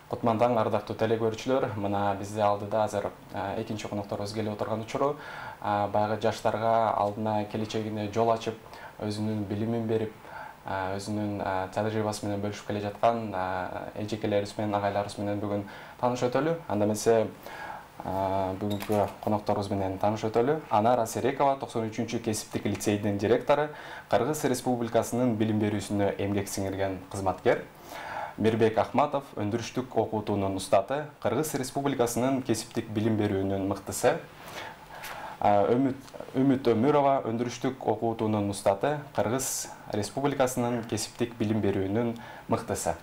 Кутман таң, ардактуу теле көрүүчүлөр, мына бизде алдыда азыр экинчи конокторубуз келип отурган учуру баягы жаштарга алдына келечегине жол ачып, өзүнүн билимин берип, өзүнүн тажрыйбасы менен бөлүшүп келе жаткан эжекелерибиз менен, агайларыбыз менен бүгүн таанышып өтөлү. Анда эмесе бүгүнкү конокторубуз менен таанышып өтөлү. Анара Серекова, 93-чү кесиптик лицейдин директору, Кыргыз Республикасынын билим берүүсүнө эмгек сиңирген кызматкер. Мирбек Ахматов, өндүрүштүк окутуунун устаты, Кыргыз Республикасынын кесиптик билим берүүнүн мыктысы. Үмүт Өмүрова, өндүрүштүк окутуунун устаты, Кыргыз Республикасынын кесиптик билим берүүнүн мыктысы.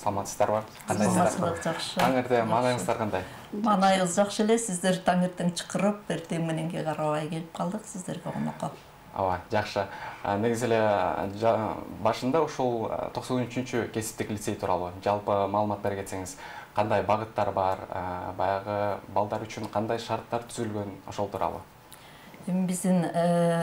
Саламатсыздарбы? Саламатсыздар, жакшы. Таң эртең маанайыңыздар кандай? Маанайыбыз жакшы эле. Сиздер таң эртең чакырып, эртең мененге карабай келип калдык сиздерге конокко. Ооба, жакшы. Негизи эле башында ушул 93-чү кесиптик лицей тууралуу жалпы маалымат бере кетсеңиз, кандай багыттар бар, баягы балдар үчүн кандай шарттар түзүлгөн, ошол тууралуу? Биздин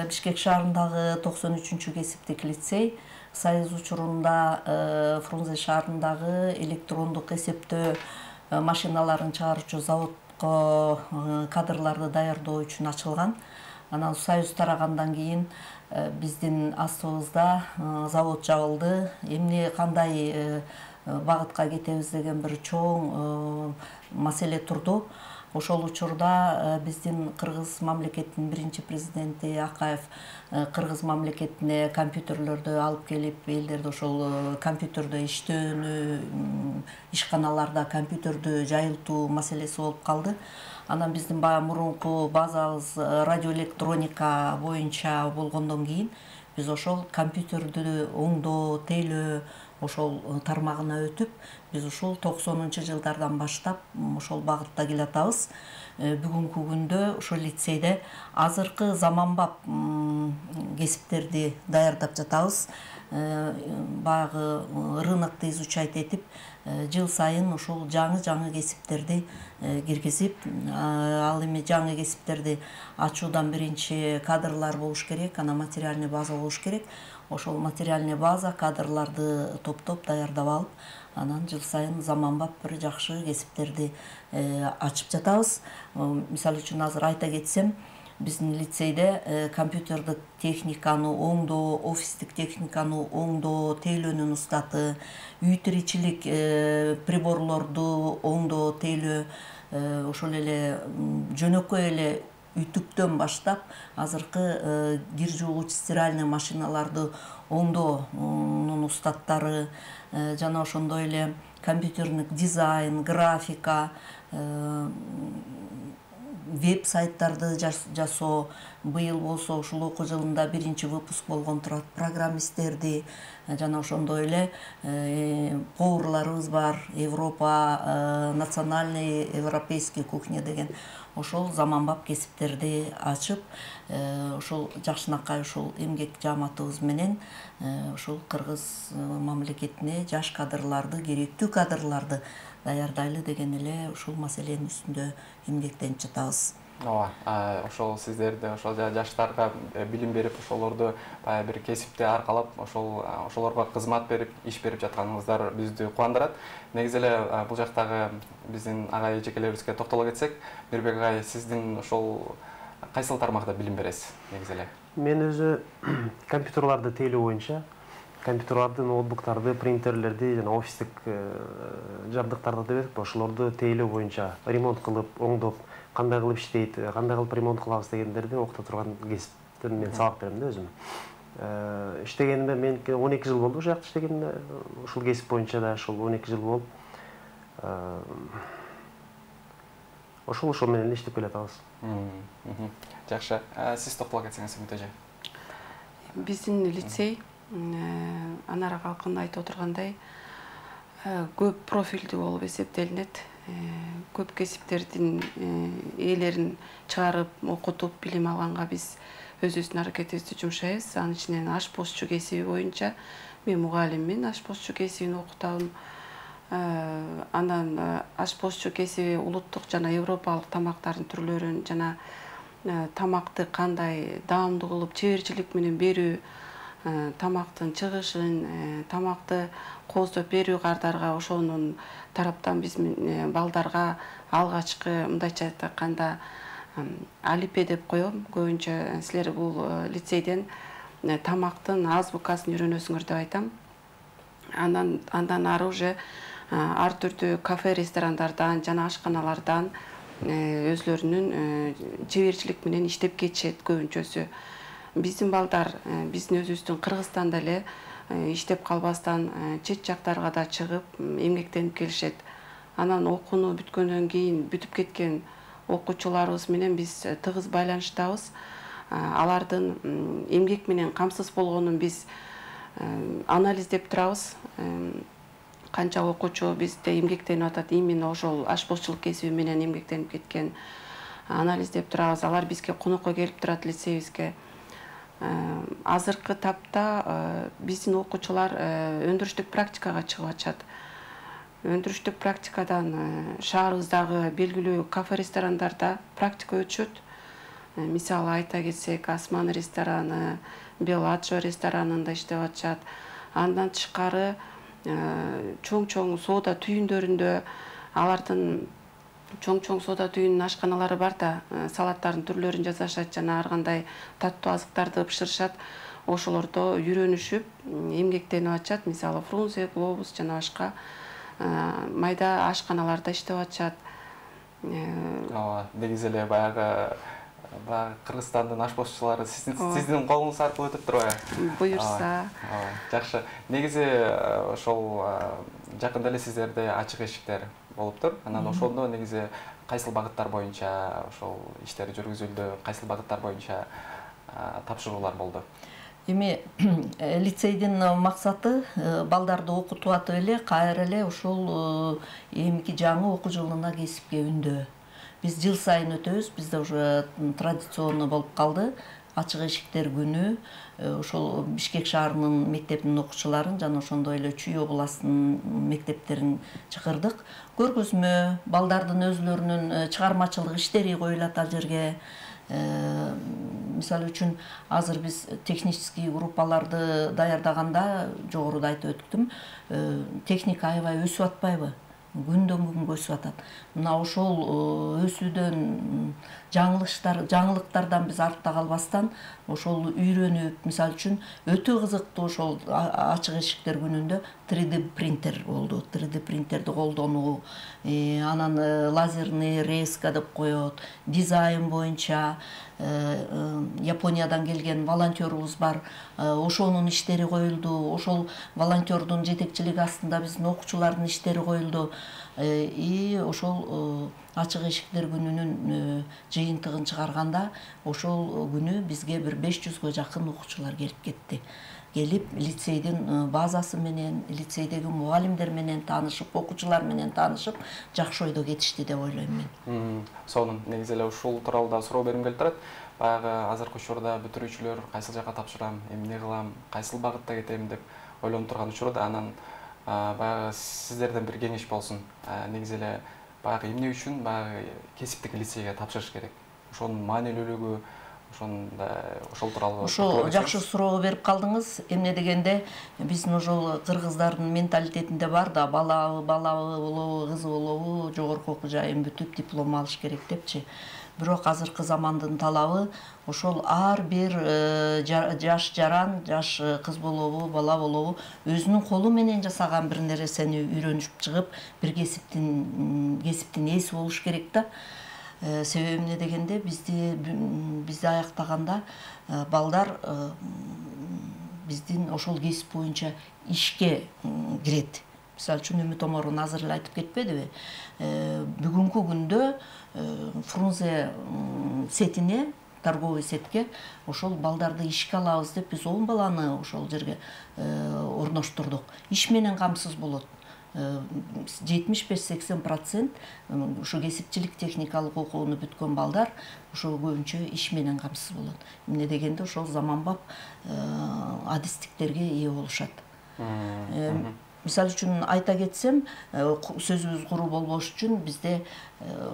Бишкек шаарындагы 93-чү кесиптик лицей Союз учурунда Фрунзе шаарындагы электрондук эсептөө машиналарын чыгаруучу заводко кадрларды даярдоо үчүн ачылган. Анан Союз тарагандан кийин биздин астыбызда завод жабылды. Эмне кандай багытка кетебиз деген бир чоң маселе турду. Ошол учурда биздин Кыргыз мамлекетинин биринчи президенти Акаев Кыргыз мамлекетине компьютерлөрдү алып келип, элдерди ошол компьютердө иштөөнү, ишканаларда компьютердү жайылтуу маселеси болуп калды. Анан биздин баягы мурунку базабыз радиоэлектроника боюнча болгондон кийин биз ошол компьютердү оңдоо, тейлөө ошол тармагына өтүп, биз ушул 90-жылдардан баштап ошол багытта келатабыз. Бүгүнкү күндө ошол лицейде азыркы заманбап кесиптерди даярдап жатабыз. Баягы рынокду изучать этип, жыл сайын ошол жаңы кесиптерди киргизип, ал эми жаңы кесиптерди ачуудан биринчи кадрлар болуш керек, анан материальный база болуш керек. Ошол материальный база кадрларды топтоп даярдап алып, анан жыл сайын заманбап бир жакшы кесиптерди ачып жатабыз. Мисалы үчүн азыр айта кетсем, биздин лицейде компьютердик техниканы оңдоо, офистик техниканы оңдоо, тейлөөнүн устаты, үй тиричилик приборлорду оңдоо, тейлөө, ошол эле жөнөкөй эле үтүктөн баштап азыркы кир жуугуч стиральный машиналарды оңдоонун устаттары, жана ошондой эле компьютердик дизайн, графика, веб-сайттарды жасоо. Быйыл болсо ушул окуу жылында биринчи выпуск болгон турат программисттерди, жана ошондой эле поварларыбыз бар, Европа, национальный европейский кухня деген ошол заманбап кесиптерди ачып, ошол жакшынакай ушул эмгек жааматыбыз менен ошол Кыргыз мамлекетине жаш кадрларды, керектүү кадрларды даярдайлы деген эле ушул маселенин үстүндө эмгектенип жатабыз. Ооба, ошол сиздерди ошол жаштарга билим берип, ошолорду баягы бир кесипти аркалап, ошолорго кызмат берип, иш берип жатканыңыздар бизди кубандырат. Негизи эле бул жактагы биздин агай эжекелерибизге токтоло кетсек, Мирбек агай, сиздин ошол кайсыл тармакта билим бересиз негизи эле? Мен өзү компьютерларды тейлөө боюнча, компьютерларды, ноутбуктарды, принтерлерди жана офистик жабдыктарды деп ошолорду тейлөө боюнча ремонт кылып, оңдоп, кандай кылып иштейт, кандай кылып ремонт кылабыз дегендерди окута турган кесиптен мен сабак берем да өзүм. Иштегенимде мен 12 жыл болду ошол жакта иштегениме, ушул кесип боюнча да ошол 12 жыл болуп, ошол менен иштеп келатабыз. Жакшы. Сиз токтоло кетсеңиз, Үмүт эже. Биздин лицей Анара калкын айтып отургандай көп профилдүү болуп эсептелинет. Көп кесиптердин ээлерин чыгарып, окутуп, билим алганга биз өзүбүздүн аракетибизди жумшайбыз. Анын ичинен ашпозчу кесиби боюнча мен мугалиммин, ашпозчу кесибин окутам. Анан ашпозчу кесиби улуттук жана европалык тамактардын түрлөрүн жана тамакты кандай даамдуу кылып чеберчилик менен берүү, тамактын чыгышын, тамакты кооздоп берүү кардарга ошонун тараптан биз балдарга алгачкы мындайча айтканда алипе деп коем. Көбүнчө силер бул лицейден тамактын азбукасын үйрөнөсүңөр деп айтам. Андан ары уже ар түрдүү кафе, ресторандардан жана ашканалардан өзлөрүнүн чеберчилик менен иштеп кетишет көбүнчөсү. Биздин балдар биздин өзүбүздүн Кыргызстанда эле иштеп калбастан чет жактарга да чыгып эмгектенип келишет. Анан окууну бүткөндөн кийин бүтүп кеткен окуучуларыбыз менен биз тыгыз байланыштабыз. Алардын эмгек менен камсыз болгонун биз анализдеп турабыз. Канча окуучу бизде эмгектенип атат, именно ошол ашпозчулук кесиби менен эмгектенип кеткен анализдеп турабыз. Алар бизге конокко келип турат лицейибизге. Азыркы тапта биздин окуучулар өндүрүштүк практикага чыгып атышат. Өндүрүштүк практикадан шаарыбыздагы белгилүү кафе, ресторандарда практика өтүшөт. Мисалы айта кетсек, Осман рестораны, Беладжо ресторанында иштеп атышат. Андан тышкары чоң-чоң соода түйүндөрүндө алардын чоң-чоң соода түйүнүнүн ашканалары бар да, салаттардын түрлөрүн жасашат жана ар кандай таттуу азыктарды бышырышат. Ошолордо үйрөнүшүп, эмгектенип атышат. Мисалы Фрунзе, Глобус жана башка майда ашканаларда иштеп атышат. Негизи эле баягы Кыргызстандын ашпозчулары сиздин колуңуз аркылуу өтүп турбайбы? Буюрса. Жакшы. Негизи ошол жакында эле сиздерде ачык эшиктер болуптур. Анан ошондо негизи кайсыл багыттар боюнча ошол иштер жүргүзүлдү, кайсыл багыттар боюнча тапшыруулар болду? Эми лицейдин максаты балдарды окутуп атып эле кайра эле ошол эмки жаңы окуу жылына кесипке үндөө. Биз жыл сайын өтөбүз, бизде уже традиционный болуп калды. Ачык эшиктер күнү ошол Бишкек шаарынын мектебинин окуучуларын жана ошондой эле Чүй областынын мектептерин чакырдык. Көргөзмө, балдардын өзлөрүнүн чыгармачылык иштери коюлат ал жерге. Мисалы үчүн азыр биз технический группаларды даярдаганда жогоруда айтып өттүм, техника аябай өсүп атпайбы? Күндөн күнгө өсүп атат. Мына ошол өсүүдөн жаңылыктардан биз артта калбастан ошол үйрөнүп, мисалы үчүн өтө кызыктуу ошол ачык эшиктер күнүндө 3D принтер болду. 3D принтерди колдонуу, анан лазерный резка деп коет, дизайн боюнча Япониядан келген волонтерубуз бар. Ошонун иштери коюлду. Ошол волонтердун жетекчилиги астында биздин окуучулардын иштери коюлду. И ошол ачык эшиктер күнүнүн жыйынтыгын чыгарганда ошол күнү бизге бир 500гө жакын окуучулар келип кетти. Келип лицейдин базасы менен, лицейдеги мугалимдер менен таанышып, окуучулар менен таанышып, жакшы ойдо кетишти деп ойлойм мен. Сонун, негизи эле ушул тууралуу да суроо бергим келип турат. Баягы азыркы учурда бүтүрүүчүлөр кайсыл жакка тапшырам, эмне кылам, кайсыл багытта кетем деп ойлонуп турган учурда анан баягы сиздерден бир кеңеш болсун. Негизи эле баягы эмне үчүн баягы кесиптик лицейге тапшырыш керек? Ошонун маанилүүлүгү, ошол тууралуу. Ошол жакшы суроо берип калдыңыз. Эмне дегенде биздин ошол кыргыздардын менталитетинде бар да, бала болобу, кыз болобу, жогорку окуу жайын бүтүп диплом алыш керек депчи. Бирок азыркы замандын талабы ошол ар бир жаш жаран, жаш кыз болобу, бала болобу өзүнүн колу менен жасаган бир нерсени үйрөнүп чыгып, бир кесиптин ээси болуш керек да. Себеби эмне дегенде бизди аяктаганда балдар биздин ошол кесип боюнча ишке кирет. Мисалы үчүн Үмүт Оморун азыр эле айтып кетпедиби? Бүгүнкү күндө Фрунзе сетине, торговый сетке ошол балдарды ишке алабыз деп биз 10 баланы ошол жерге орноштурдук. Иш менен камсыз болот. 75-80% ушу кесипчилик техникалык окууну бүткөн балдар ошол көбүнчө иш менен камсыз болот. Эмне дегенде ошол заманбап адистиктерге ээ болушат. Мисалы үчүн айта кетсем, сөзүбүз куру болбош үчүн бизде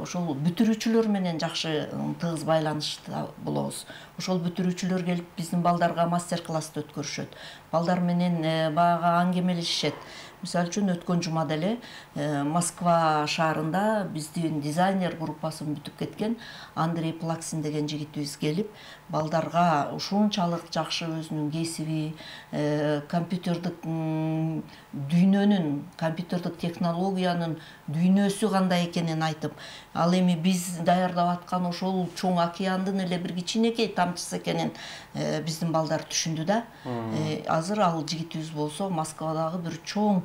ошол бүтүрүүчүлөр менен жакшы тыгыз байланышта болобуз. Ошол бүтүрүүчүлөр келип биздин балдарга мастер-классты өткөрүшөт. Балдар менен баягы аңгемелешишет. Мисалы үчүн өткөн жумада эле Москва шаарында биздин дизайнер группасын бүтүп кеткен Андрей Плаксин деген жигитибиз келип, балдарга ушунчалык жакшы өзүнүн кесиби, компьютердик дүйнөнүн, компьютердик технологиянын дүйнөсү кандай экенин айтып, ал эми биз даярдап аткан ошол чоң океандын эле бир кичинекей тамчысы экенин биздин балдар түшүндү да. Азыр ал жигитибиз болсо Москвадагы бир чоң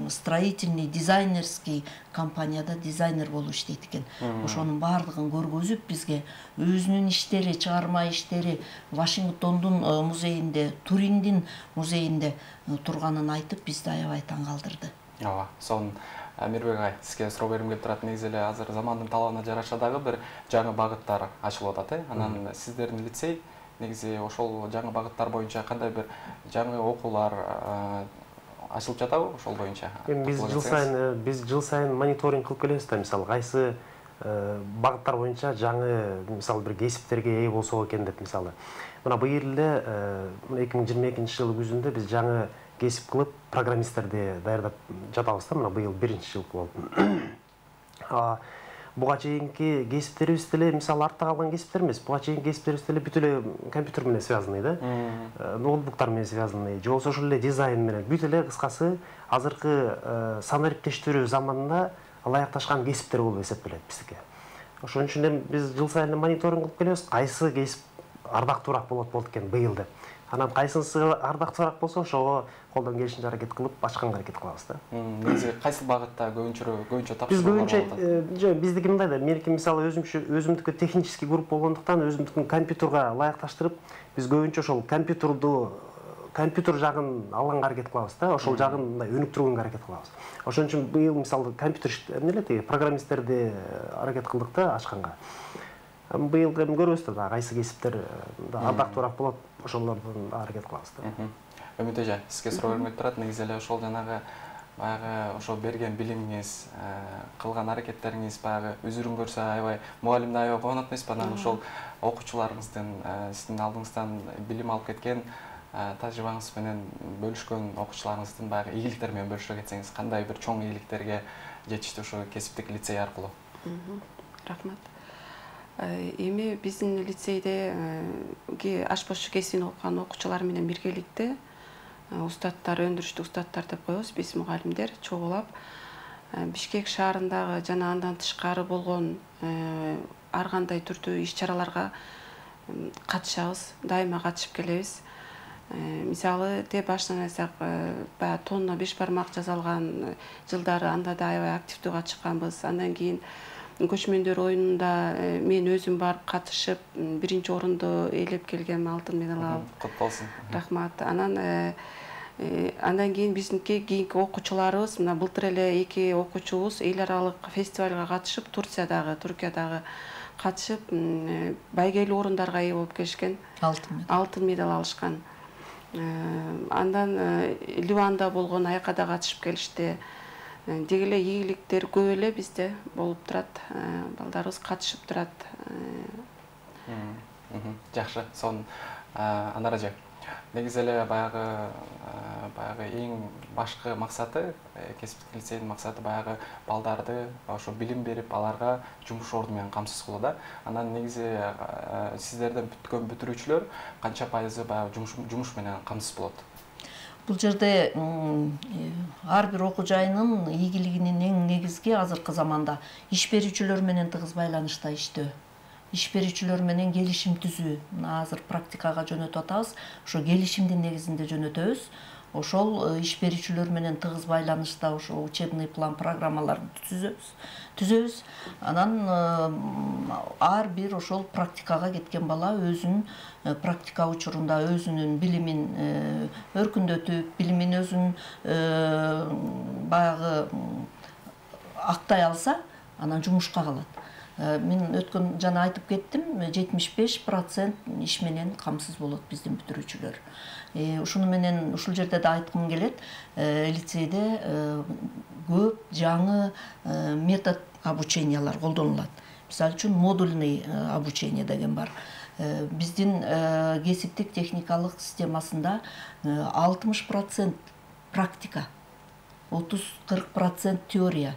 строительный, дизайнерский компанияда дизайнер болуп иштейт экен. Ошонун баардыгын көргөзүп бизге өзүнүн иштери, чыгарма иштери Вашингтондун музейинде, Туриндин музейинде турганын айтып, бизди аябай таң калтырды. Ооба, сонун Мирбек агай, сизге суроо бергим келип турат. Негизи эле азыр замандын талабына жараша дагы бир жаңы багыттар ачылып атат, Анан сиздердин лицей негизи ошол жаңы багыттар боюнча кандай бир жаңы окуулар ачылып жатабы ошол боюнча? Биз жыл сайын мониторинг кылып келебиз да, мисалы кайсы багыттар боюнча жаңы мисалы бир кесиптерге ээ болсок экен деп, мисалы. Мына быйыл эле 2022-жылы күзүндө биз жаңы кесип кылып программисттерди даярдап жатабыз да, мына быйыл 1-жыл болуп. Буга чейинки кесиптерибиз деле мисалы артта калган кесиптер эмес. Буга чейинки кесиптерибиз деле бүт эле компьютер менен связанный да. Ноутбуктар менен связанный. Же болбосо ошол эле дизайн менен. Бүт эле кыскасы азыркы санариптештирүү заманына ылайыкташкан кесиптер болуп эсептелет биздики. Ошон үчүн биз жыл сайын мониторинг кылып келебиз. Кайсы кесип ардактуураак болот экен быйыл деп. Анан кайсынысы ардактуураак болсо ошого колдон келишинче аракет кылып ачканга аракет кылабыз да. Негизи кайсы багытта көбүнчө тапшыруулар биз көбүнчө биздики мындай да, меники мисалы өзүмдүкү технический группа болгондуктан өзүмдүкүн компьютерга ылайыкташтырып, биз көбүнчө ошол компьютер жагын алганга аракет кылабыз да, ошол жагын мындай өнүктүргөнгө аракет кылабыз. Ошон үчүн быйыл мисалы компьютер программисттерди аракет кылдык да ачканга. Быйыл эми көрөбүз да, кайсы кесиптер ардактуураак болот, ошолордун аракет кылабыз да. Үмүт эже, сизге суроо бермек турат. Негизи эле ошол жанагы баягы ошол берген билимиңиз, кылган аракеттериңиз баягы үзүрүн көрсө аябай мугалимди аябай кубанат эмеспи? Анан ошол окуучуларыңыздын сиздин алдыңыздан билим алып кеткен тажрыйбаңыз менен бөлүшкөн окуучуларыңыздын баягы ийгиликтери менен бөлүшө кетсеңиз, кандай бир чоң ийгиликтерге жетишти ошо кесиптик лицей аркылуу? Рахмат. Эми биздин лицейде ашпозчу кесибин окуган окуучулар менен биргеликте устаттар, өндүрүштүк устаттар деп коебуз, биз мугалимдер чогулап Бишкек шаарындагы жана андан тышкары болгон ар кандай түрдүү иш-чараларга катышабыз, дайыма катышып келебиз. Мисалы, деп башынан айтсак, баягы тонна беш бармак жасалган жылдары анда да аябай активдүү катышканбыз. Андан кийин көчмөндөр оюнунда мен өзүм барып катышып, биринчи орунду ээлеп келгем, алтын медаль алып. Кут болсун. Рахмат. Андан кийин биздинки кийинки окуучуларыбыз, мына былтыр эле 2 окуучубуз эл аралык фестивалга катышып, Туркиядагы катышып, байгелүү орундарга ээ болуп келишкен. Алтын медаль алышкан. Андан Ливанда болгон айкада катышып келишти. Деги эле ийгиликтер көп эле бизде болуп турат. Балдарыбыз катышып турат. Жакшы, сонун. Анар эже, негизи эле баягы эң башкы максаты, кесиптик лицейдин максаты баягы балдарды ошо билим берип, аларга жумуш орду менен камсыз кылуу да. Анан негизи сиздерден бүткөн бүтүрүүчүлөр канча пайызы баягы жумуш менен камсыз болот? Бул жерде ар бир окуу жайынын ийгилигинин эң негизги азыркы заманда иш берүүчүлөр менен тыгыз байланышта иштөө. Иш берүүчүлөр менен келишим түзүү. Мына азыр практикага жөнөтүп атабыз. Ошо келишимдин негизинде жөнөтөбүз. Ошол иш берүүчүлөр менен тыгыз байланышта ошо учебный план программаларды түзөбүз. Анан ар бир ошол практикага кеткен бала өзүнүн практика учурунда өзүнүн билимин өркүндөтүп, билимин өзүн баягы актай алса, анан жумушка калат. Мен өткөн жана айтып кеттим, 75% иш менен камсыз болот биздин бүтүрүүчүлөр. Ушуну менен ушул жерде да айткым келет. Лицейде көп жаңы метод обучениялар колдонулат. Мисалы үчүн модульный обучение деген бар. Биздин кесиптик техникалык системасында 60% практика, 30-40% теория.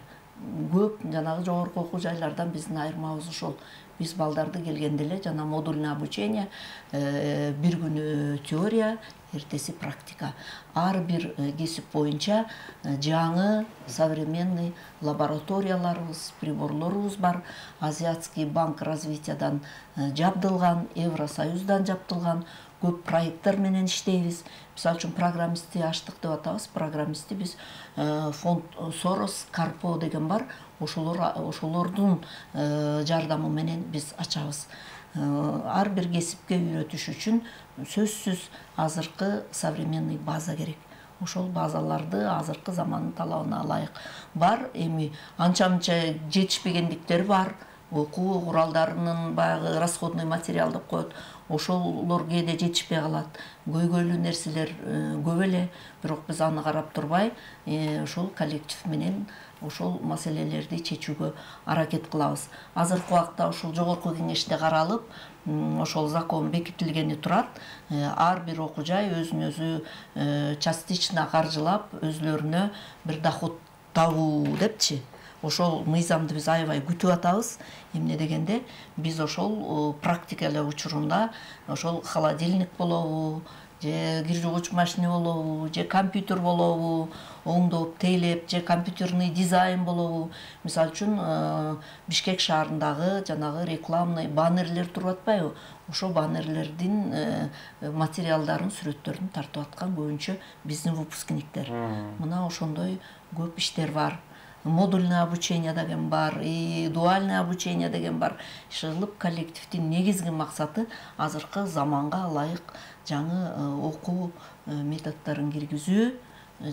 Көп жанагы жогорку окуу жайлардан биздин айырмабыз ошол. Биз балдарды келгенде эле жана модульный обучение, бир күнү теория, эртеси практика. Ар бир кесип боюнча жаңы современный лабораторияларыбыз, приборлорубуз бар. Азиатский банк развитиядан жабдылган, Евросоюздан жабдылган көп проекттер менен иштейбиз. Мисалы үчүн программистти аштык деп атабыз. Программистти биз фонд Сорос, Карпо деген бар. Ошолордун жардамы менен биз ачабыз. Ар бир кесипке үйрөтүш үчүн сөзсүз азыркы современный база керек. Ошол базаларды азыркы замандын талабына ылайык бар. Эми анча-мынча жетишпегендиктер бар. Окуу куралдарынын баягы расходный материал деп коет. Ошолор кээде жетишпей калат. Көйгөйлүү нерселер көп эле, бирок биз аны карап турбай, ошол коллектив менен ошол маселелерди чечүүгө аракет кылабыз. Азыркы убакта ушул жогорку кеңеште каралып, ошол закон бекитилгени турат. Ар бир окуу жай өзүн өзү частично каржылап, өзлөрүнө бир доход табуу депчи. Ошол мыйзамды биз аябай күтүп атабыз. Эмне дегенде, биз ошол практика эле учурунда ошол холодильник болобу, же кир жуугуч машина болобу, же компьютер болобу, оңдоп, тейлеп, же компьютерный дизайн болобу. Мисалы үчүн Бишкек шаарындагы жанагы рекламный баннерлер туруп атпайбы? Ошо баннерлердин материалдарын, сүрөттөрүн тартып аткан көбүнчө биздин выпускниктер. Мына ошондой көп иштер бар. Модульное обучение деген бар, дуальное обучение деген бар. Шылып коллективдин негизги максаты азыркы заманга ылайык жаңы окуу методдорун киргизүү,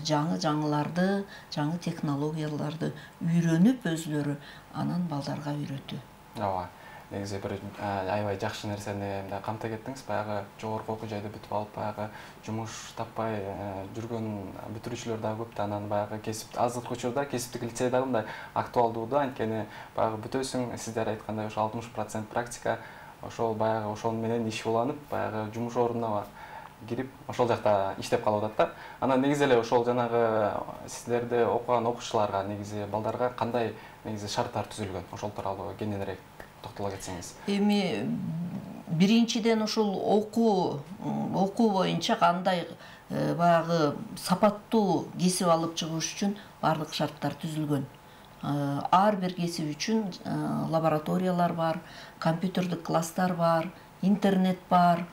жаңыларды, жаңы технологияларды үйрөнүп өзлөрү анан балдарга үйрөтүү. Ооба. Негизи бир аябай жакшы нерсени камтып кеттиңиз. Баягы жогорку окуу жайды бүтүп алып, баягы жумуш таппай жүргөн бүтүрүүчүлөр да көп да, анан баягы кесип азыркы учурда кесиптик лицей дагы мындай актуалдуу да, анткени баягы бүтөсүң, сиздер айткандай ошо 60% практика, ошол баягы ошол менен иш уланып, баягы жумуш ордуна кирип, ошол жакта иштеп калып атат да. Анан негизи эле ошол жанагы сиздерде окуган окуучуларга, негизи балдарга кандай негизи шарттар түзүлгөн? Ошол тууралуу кененирээк токтоло кетсеңиз. Эми биринчиден ушул окуу боюнча кандай баягы сапаттуу кесип алып чыгыш үчүн бардык шарттар түзүлгөн. Ар бир кесип үчүн лабораториялар бар, компьютердик класстар бар, интернет бар.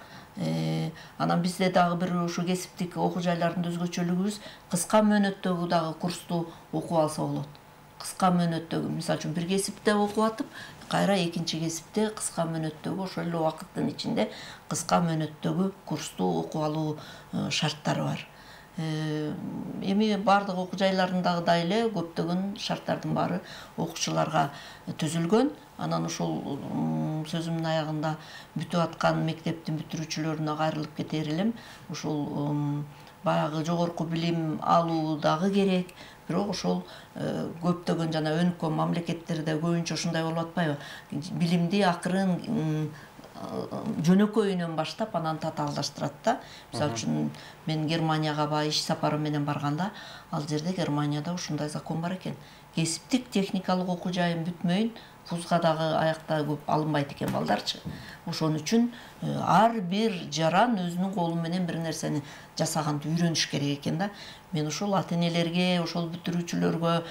Анан бизде дагы бир ушу кесиптик окуу жайларында өзгөчөлүгүбүз кыска мөөнөттөгү дагы курсту окуп алса болот. Кыска мөөнөттөгү, мисалы үчүн бир кесипте окуп атып, кайра экинчи кесипте кыска мөөнөттөгү ошол эле убакыттын ичинде кыска мөөнөттөгү курсту окуп алуу шарттары бар. Эми бардык окуу жайларындагыдай эле көптөгөн шарттардын баары окуучуларга түзүлгөн. Анан ушул сөзүмдүн аягында бүтүп аткан мектептин бүтүрүүчүлөрүнө кайрылып кетер элем. Ушул баягы жогорку билим алуу дагы керек. Бирок ошол көптөгөн жана өнүккөн мамлекеттерде көбүнчө ушундай болуп атпайбы? Билимди акырын жөнөкөйүнөн баштап анан татаалдаштырат да. Мисалы үчүн мен Германияга баягы иш сапары менен барганда, ал жерде Германияда ушундай закон бар экен. Кесиптик техникалык окуу жайын бүтмөйүн, вузга дагы аякта көп алынбайт экен балдарчы. Ошон үчүн ар бир жаран өзүнүн колу менен бир нерсени жасаганды үйрөнүш керек экен да. Мен ошол ата-энелерге, ошол бүтүрүүчүлөргө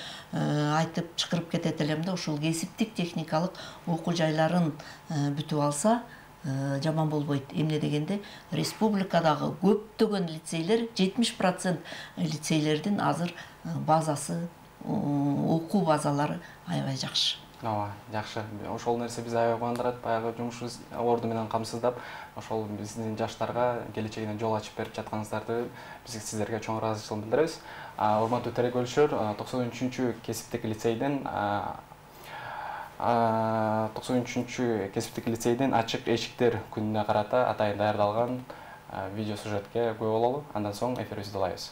айтып чакырып кетет элем да, ошол кесиптик техникалык окуу жайларын бүтүп алса жаман болбойт. Эмне дегенде, республикадагы көптөгөн лицейлер, 70% лицейлердин азыр базасы, окуу базалары аябай жакшы. Ооба, жакшы. Ошол нерсе биз аябай кубандырат. Баягы жумушубуз орду менен камсыздап, ошол биздин жаштарга келечегине жол ачып берип жатканыңыздарды биз сиздерге чоң ыраазычылык билдиребиз. Урматтуу телекөрүүчүлөр, 93-кесиптик лицейден 93 кесиптик лицейдин ачык эшиктер күнүнө карата атайын даярдалган видео сюжетке күбө бололу. Андан соң эфирибизди улайбыз.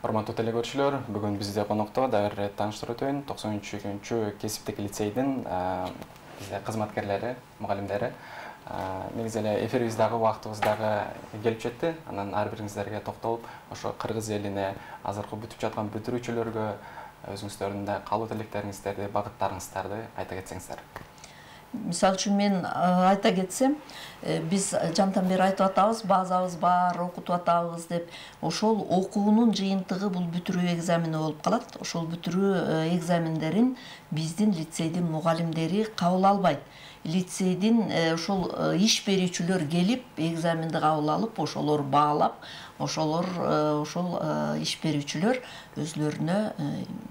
Урматтуу телекөрүүчүлөр, бүгүн бизде конокто дагы бир тааныштырып өтөйүн. 93 кесиптик лицейдин бизде кызматкерлери, мугалимдери. Негизи эле эфирибиздагы убактыбыз дагы келип жетти. Анан ар бириңиздерге токтолуп, ошо кыргыз элине азыркы бүтүп жаткан бүтүрүүчүлөргө өзүңүздөрдүн да каалоо тилектериңиздерди, багыттарыңыздарды айта кетсеңиздер. Мисалы үчүн мен айта кетсем, биз жантан бери айтып атабыз, базабыз бар, окутуп атабыз деп. Ошол окуунун жыйынтыгы бул бүтүрүү экзамени болуп калат. Ошол бүтүрүү экзамендерин биздин лицейдин мугалимдери кабыл албайт. Лицейдин ошол иш берүүчүлөр келип, экзаменди кабыл алып, ошолор баалап, ошол иш берүүчүлөр өзлөрүнө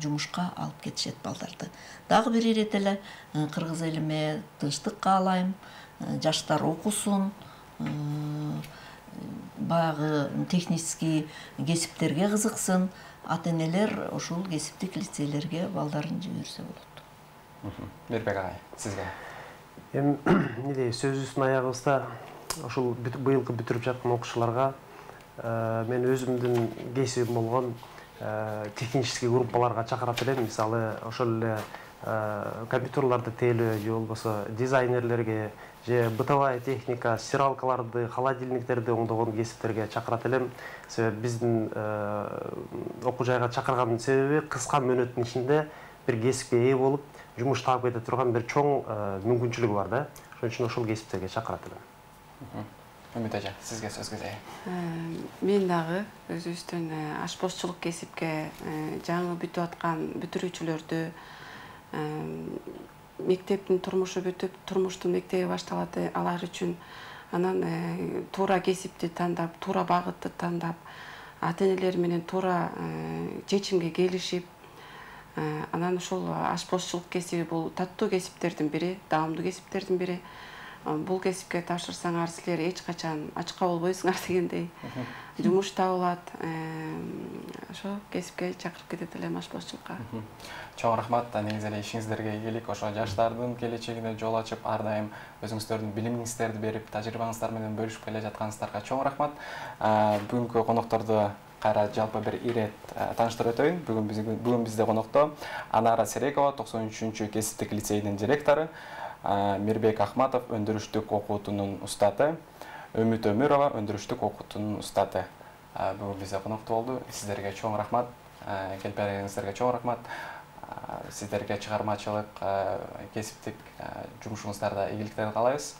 жумушка алып кетишет балдарды. Дагы бир ирет эле кыргыз элиме тынчтык каалайм, жаштар окусун, баягы технический кесиптерге кызыксын, ата-энелер ошол кесиптик лицейлерге балдарын жиберсе болот. Мирбек агай, сизге. Эми сөзүбүздүн аягыбызда ошол быйылкы бүтүрүп жаткан окуучуларга мен өзүмдүн кесибим болгон технический группаларга чакырат элем. Мисалы ошол эле компьютерларды тейлөө же болбосо дизайнерлерге же бытовая техника, стиралкаларды, холодильниктерди оңдогон кесиптерге чакырат элем. Себеби биздин окуу жайга чакыргандын себеби кыска мөөнөттүн ичинде бир кесипке ээ болуп, жумуш таап кете турган бир чоң мүмкүнчүлүгү бар да. Ошон үчүн ошол кесиптерге чакырат элем. Үмүт эже, сизге сөз кетейин. Мен дагы өзүбүздүн ашпозчулук кесипке жаңы бүтүп аткан бүтүрүүчүлөрдү мектептин турмушу бүтүп, турмуштун мектеби башталат алар үчүн анан туура кесипти тандап, туура багытты тандап, ата-энелер менен туура чечимге келишип, анан ошол ашпозчулук кесиби бул таттуу кесиптердин бири, даамдуу кесиптердин бири. Бул кесипке тапшырсаңар силер эч качан ачка болбойсуңар дегендей жумуш табылат. Ошо кесипке чакырып кетет элем ашпозчулукка. Чоң рахмат. Негизи эле ишиңиздерге ийгилик, ошо жаштардын келечегине жол ачып, ар дайым өзүңүздөрдүн билимиңиздерди берип, тажрыйбаңыздар менен бөлүшүп келе жатканыңыздарга чоң рахмат. Бүгүнкү конокторду кайра жалпы бир ирет тааныштырып өтөйүн. Бүгүн бизде конокто Анара Серекова, 93 кесиптик лицейдин директору, Мирбек Ахматов, өндүрүштүк окуутунун устаты, Үмүт Өмүрова, өндүрүштүк окуутунун устаты. Бүгүн бизде конокто болду. Сиздерге чоң рахмат. Келип бергениңиздерге чоң рахмат. Сиздерге чыгармачылык, кесиптик жумушуңуздарда ийгиликтерди каалайбыз.